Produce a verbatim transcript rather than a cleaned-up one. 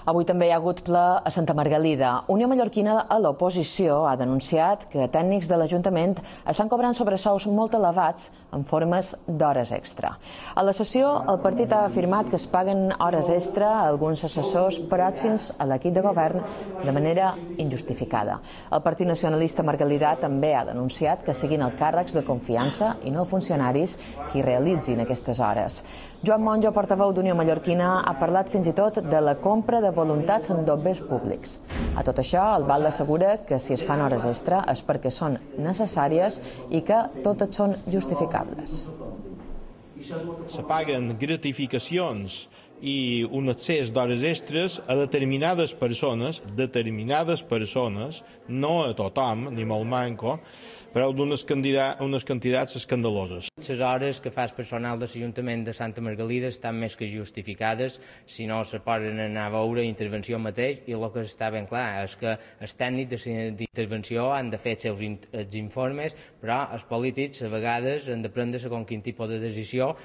Avui també hi ha hagut ple a Santa Margalida. Unió Mallorquina a l'oposició ha denunciat que tècnics de l'Ajuntament estan cobrant sobresous molt elevats en formes d'hores extra. A la sessió, el partit ha afirmat que es paguen hores extra a alguns assessors pròxims a l'equip de govern de manera injustificada. El Partit Nacionalista Margalidà també ha denunciat que siguin els càrrecs de confiança i no funcionaris qui realitzin aquestes hores. Joan Monjo, portaveu d'Unió Mallorquina, ha parlat fins i tot de la compra de voluntats en bombers públics. A tot això, el Val assegura que si es fan hores extra és perquè són necessàries i que totes són justificables. Se paguen gratificacions i un accés d'hores extres a determinades persones, determinades persones, no a tothom, ni molt manco, però d'unes unes quantitats escandaloses. Les hores que fa el personal de l'Ajuntament de Santa Margalida estan més que justificades, si no se poden anar a veure intervenció mateix, i el que està ben clar és que els tècnics d'intervenció han de fer els seus informes, però els polítics a vegades han de prendre segons quin tipus de decisió.